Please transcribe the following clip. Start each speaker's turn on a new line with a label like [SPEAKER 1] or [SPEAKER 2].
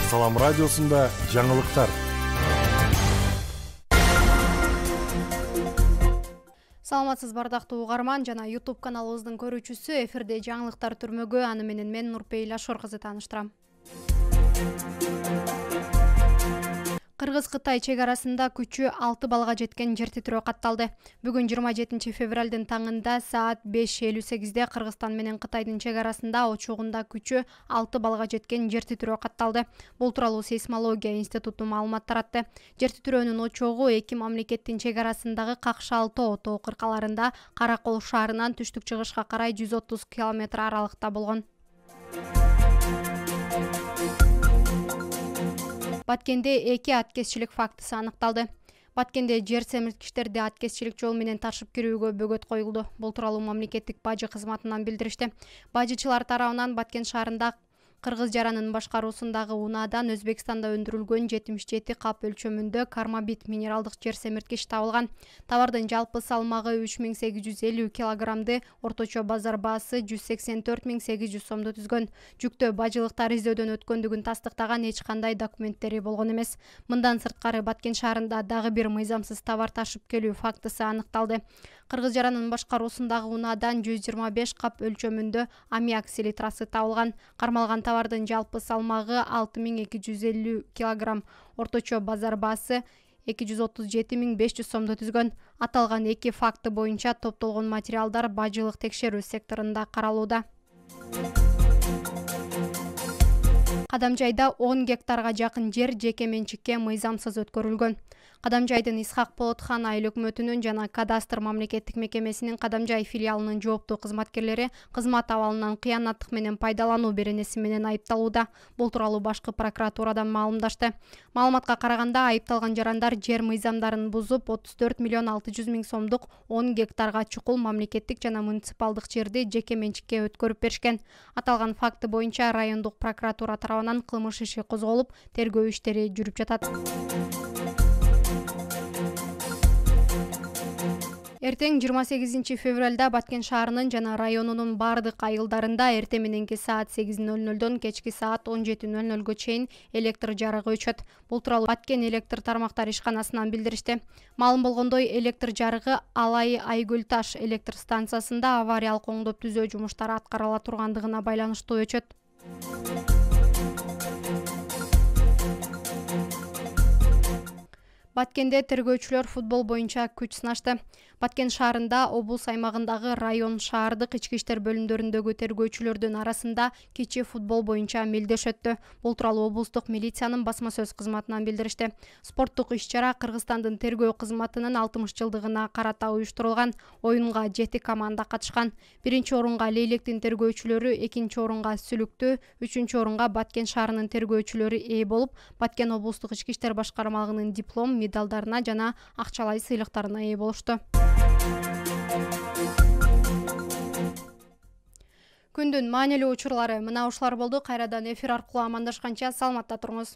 [SPEAKER 1] Салам радиосунда жаңылыктар.
[SPEAKER 2] Саламатсыз бардактуу угарман жана YouTube каналыбыздын көрүүчүсү. Эфирде жаңылыктар түрмөгү. Аны менен мен Нурпейил Ашор кызы тааныштырам. Кыргыз-Кытай чек арасында күчү 6 балга жеткен жер титирөө катталды. Бүгүн 27 февралдын таңында саат 5:58 Кыргызстан менен Кытайдын чек арасында очогунда күчү 6 балга жеткен жер титирөө катталды. Бул тууралуу сейсмология институту маалымат таратты. Жер титирөөнүн очогу эки мамлекеттин чек арасындагы Какшал-Тоо тоо кыркаларында Каракол шаарынан түштүк-чыгышка карай 130 км аралыкта болгон. Баткенде эки аткезчилик фактысы аныкталды. Баткенде жер семирткичтерди аткезчилик жол менен ташып кирүүгө бөгөт коюлду. Бул тууралуу мамлекеттик бажы кызматынан билдиришти. Бажычылар тарабынан Баткен шаарында Кыргыз жаранын башкаруусундагы унаадан Өзбекстанда өндүрүлгөн 77 кап өлчөмүндө кармабит минералдык жер семирткич табылган. Товардын жалпы салмагы 3850 килограммды, орточо базар баасы 184.800 сомду түзгөн. Жүктө бажылыктар издөөдөн өткөндүгүн тастыктаган эч кандай документтери болгон эмес. Мындан сырткары Баткен шаарында дагы бир мыйзамсыз товар ташып келүү фактысы аныкталды. Кыргыз жаранын башкаруусундагы унаадан 125 кап өлчөмүндө аммиак селитрасы табылган. Кармалган товардын жалпы салмагы 6250 килограмм, орточо базар баасы 237.500 сомду түзгөн. Аталган эки факты боюнча топтолгон материалдар бажылык текшерүү секторунда каралууда. Кадамжайда 10 гектарга жакын жер жеке менчикке мыйзамсыз өткөрүлгөн. Кадамжайдын Исхак Болотхан айыл өкмөтүнүн жана кадастр мамлекеттик мекемесинин Кадамжай филиалынын жооптуу кызматкерлери кызмат абалынан кыянаттык менен пайдалануу беренеси менен айыпталууда. Бул тууралуу башкы прокуратурадан маалымдашты. Маалыматка караганда айыпталган жарандар жер мыйзамдарын бузуп 34.600.000 сомдук 10 гектарга чукул мамлекеттик жана муниципалдык жерди жеке менчикке өткөрүп беришкен. Аталган факты боюнча райондук прокуратура тарабынан кылмыш иши козголуп, тергөө иштери жүрүп жатат. Эртең 28 февралда Баткен шаарынын жана районунун бардык айылдарында эртең мененки саат 8:00дон кечки саат 17:00 чейин электр жарыгы өчөт. Бул тууралуу Баткен электр тармактар ишканасынан билдиришти. Маалым болгондой, электр жарыгы Алай Айгүл Таш электр станциясында авариялык оңдоп түзөө жумуштары аткарыла тургандыгына байланыштуу өчөт. Баткенде тергөөчүлөр футбол боюнча күч сынашты. Баткен шаарында облус аймагындагы район шаардык ички иштер бөлүмдөрүндөгү тергөөчүлөрдүн арасында кичи футбол боюнча мелдеш өттү. Бул тууралуу облустук милициянын басма сөз кызматынан билдиришти. Спорттук иш-чара Кыргызстандын тергөө кызматынын 60 жылдыгына карата уюштурулган. Оюнга 7 команда катышкан. Биринчи орунга Лейлектин тергөөчүлөрү, экинчи орунга Сүлүктү, үчүнчү орунга Баткен шаарынын тергөөчүлөрү ээ болуп, Баткен облустук ички иштер башкармалыгынын диплом, медалдарына жана акчалай сыйлыктарына ээ болушту. Күндүн маанилүү учурлары мына ушулар болду. Кайрадан эфир аркылуу амандашканча саламатта туруңуз.